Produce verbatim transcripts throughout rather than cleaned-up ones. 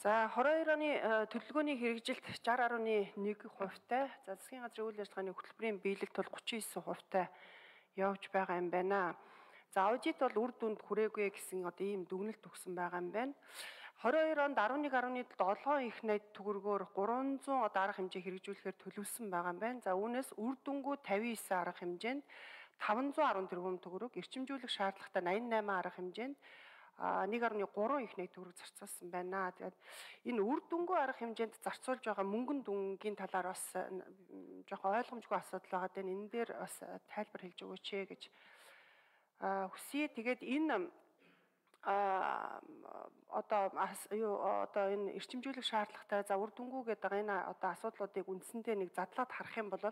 За двадцать хоёр оны төлөвлөгөөний хэрэгжилт шестьдесят гаруй нэг хувьтай, за засгийн газрын үйл ажиллагааны хөтөлбөрийн биелэлт бол тридцать девять хувьтай явж байгаа юм байна. За аудит бол үр дүнд хүрээгүй гэсэн одоо ийм дүгнэлт өгсөн байгаа юм байна. двадцать хоёр онд eleven point seven их найд төгрөгөөр three hundred одоо арга хэмжээ хэрэгжүүлэхээр төлөвлөсөн байгаа юм байна. За үүнээс үр дүнгuu fifty-nine арга хэмжээнд five hundred ten тэрбум төгрөг, эрчимжүүлэх шаардлагатай eighty-eight арга хэмжээнд one point three их найд төгрөг зарцуулсан байна. Тэгээд энэ үр дүнгuu арга хэмжээнд зарцуулж байгаа мөнгөн дүнгийн талаар бас жоохон ойлгомжгүй асуудал байгаа даа. Энэ дээр бас тайлбар хэлж өгөөч ээ гэж хүсье. Тэгээд энэ а одоо юу одоо энэ эрчимжүүлэх шаардлагатай за үр дүнгuu гэдэг энэ одоо асуудлуудыг үндсэндээ нэг задлаад харах юм бол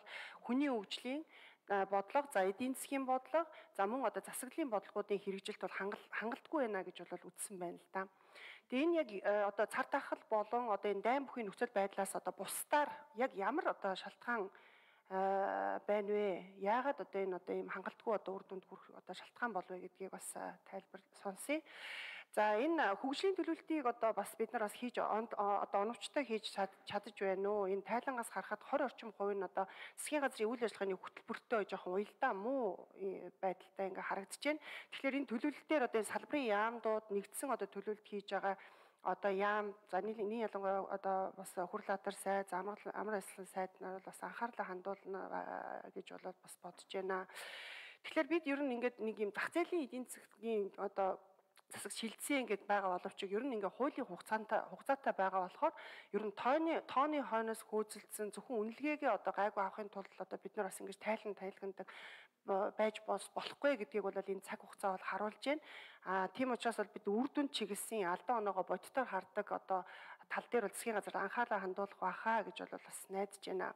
хүний хөгжлийн бодлого, за эдийн засгийн бодлого, за мөн одоо засаглалын бодлогуудын хэрэгжилт бол хангалтгүй байна гэж бол үзсэн байна л да. Тэгээ энэ яг одоо цар тахал болон одоо энэ дайн бүхий нөхцөл байдлаас одоо бусдаар яг ямар одоо шалтгаан байна вэ? Яагаад одоо энэ одоо ийм хангалтгүй одоо үр дүнд хүрэх одоо шалтгаан болов вэ гэдгийг бас тайлбар сонсъё. За энэ хөгжлийн төлөвлөлтийг одоо бас бид нар бас хийж одоо оновчтой хийж чадаж байна уу? Энэ тайлангаас харахад twenty орчим хувь нь одоо засгийн газрын үйл ажиллагааны хөтөлбөртөө жоохон уялдаа муу байдалтай ингээ харагдаж байна. Тэгэхээр энэ төлөвлөлтээр одоо салбарын яамдууд нэгдсэн одоо төлөвлөлт хийж байгаа одоо яам за нэг ялангуяа одоо бас хурлаатар сайд, амар амар ажиллагааны сайд нар бол бас анхаарлаа хандуулна гэж болоод бас бодож байна. Тэгэхээр бид ер нь ингээд нэг юм зах зээлийн эдийн засгийн одоо засаг шилжсэн ингээд байгаа боловч ер нь ингээ хуулийн хугацаантай хугацаатай байгаа болохоор ер нь тооны тооны хойноос хөөцөлдсөн зөвхөн үнэлгээгээ одоо гайгүй авахын тулд одоо бид нар бас ингэж тайлан тайлгандаг байж болохгүй гэдгийг бол энэ цаг хугацаа бол харуулж байна. А тийм учраас бол бид үр дүнд чиглэсэн алдаа оноогоо бодитоор хардаг одоо тал дээр бол засгийн газар анхаалаа хандуулах байхаа гэж бол бас найдаж байна.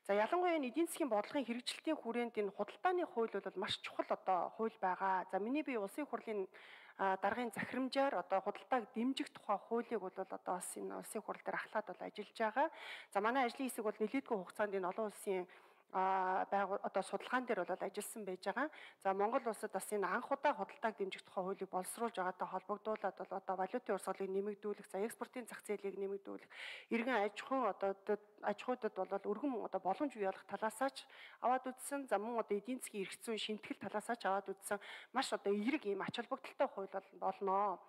За ялангуяа энэ эдийн засгийн бодлогын хэрэгжилтийн хүрээнд энэ худалдааны хууль бол маш чухал одоо хууль байгаа. За миний бие улсын хурлын даргын захирамжаар одоо худалдааг дэмжих тухай хуулийг бол одоо бас энэ улсын хурал дээр ахлаад бол ажиллаж байгаа. За манай ажлын хэсэг бол нэлээдгүй хугацаанд энэ олон улсын а байгуул одоо судалгаан дээр бол ажилласан байж байгаа. За Монгол улсад бас энэ анх удаа худалдааг дэмжих тухай хуулийг боловсруулж байгаатай холбогдуулаад бол одоо валютын урсгалыг нэмэгдүүлэх, за экспортын зах зээлийг нэмэгдүүлэх, иргэн аж ахуйн одоо аж ахуйдад бол өргөн одоо боломж бий болох талаасаа ч аваад үзсэн, за мөн одоо эдийн засгийн эрх зүйн шинтгэл талаасаа ч аваад үзсэн маш одоо эерэг ийм ач холбогдолтой хууль болно.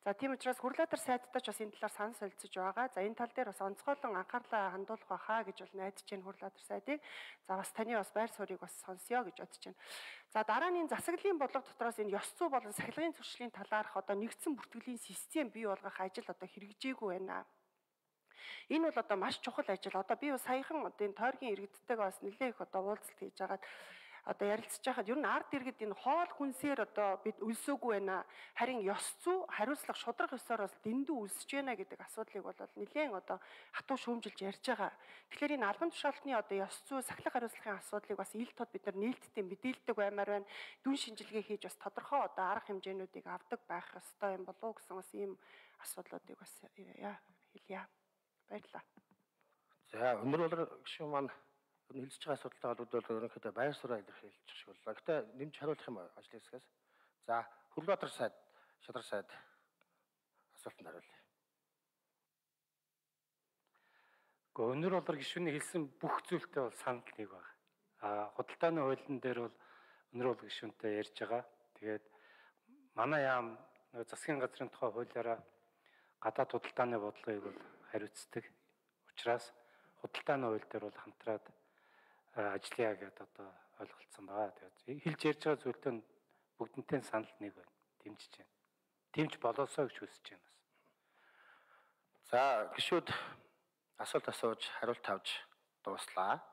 За тийм учраас хурлаатар сайдтай ч бас энэ талаар санал солилцож байгаа. За энэ тал дээр бас онцгойлон анхаарлаа хандуулах байхаа гэж бол найдаж байна хурлаатар сайдыг. За бас таны бас байр суурийг бас сонсё гэж бодож байна. За дараа нь энэ засаглалын бодлого дотроос энэ ёс зүй болон сахилгын зуршлын талаарх одоо нэгдсэн бүртгэлийн систем бий болгох ажил одоо хэрэгжээгүй байна. Энэ бол одоо маш чухал ажил. Одоо би саяхан одоо энэ тойргийн иргэдтэйгээ бас нэлээд их одоо уулзалт хийж агаад одоо ярилцж байхад ер нь ард иргэд энэ хоол хүнсээр одоо бид өлсөөгүй байна. Харин ёс зүй хариуцлага шудрах ёсоор бас дэндүү өлсөж байна гэдэг асуудлыг бол нэлээд одоо хатуу шүүмжилж ярьж байгаа. Тэгэхээр энэ албан тушаалтны одоо ёс зүй сахилах хариуцлагын асуудлыг бас ил тод бид нар нээлттэй мэдээлдэг баймаар байна. Дүн шинжилгээ хийж бас тодорхой одоо арга хэмжээнүүдийг авдаг байх ёстой юм болов уу гэсэн бас ийм асуудлуудыг бас яа хэлье. Баярлалаа. За өнөр бол гişүн маань хэлж байгаа асуудалтай холбоотой ерөнхийдөө байр суурь илэрхийлж шиг боллоо. Гэтэ нэмж хариулах юм ажлын хэсгээс. За Хүрлбаатар сайд, Шадар сайд асуултанд хариулъя. Гэхдээ өнөр болор гишүүний хэлсэн бүх зүйлтэй бол санал нэг байна. А худалдааны хуулийн дээр бол өнөр бол гишүүнтэй ярьж байгаа. Тэгээд манай яам засгийн газрын тухай хуулиараа гадаад худалдааны бодлогыг бол хариуцдаг. Учираас худалдааны хууль дээр бол хамтраад ажиллая гэдээ одоо ойлголцсон байгаа. Тэгээд хэлж ярьж байгаа зүйлтэй бүгднтэй санал нэг байна. Дэмжиж байна. Дэмж болоосоо гэж хүсэж байна. За гишүүд асуулт асууж хариулт авч дууслаа.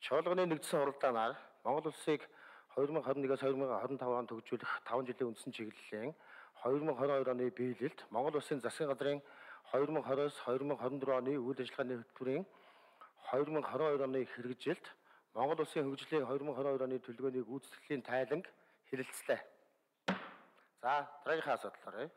Чуулганы нэгдсэн хуралдаанаар Монгол улсыг two thousand twenty-one-аас two thousand twenty-five онд хөгжүүлэх five жилийн үндсэн чиглэлийн twenty twenty-two оны биелэлд Монгол улсын засгийн газрын two thousand twenty-аас two thousand twenty-four оны үйл ажиллагааны хөтөлбөрийн two thousand twenty-two оны хэрэгжилт Монгол улсын хөгжлийн two thousand twenty-two оны төлөвлөгөөний гүйцэтгэлийн тайланг хэлэлцлээ. За дараагийнхаа асуудал оръё.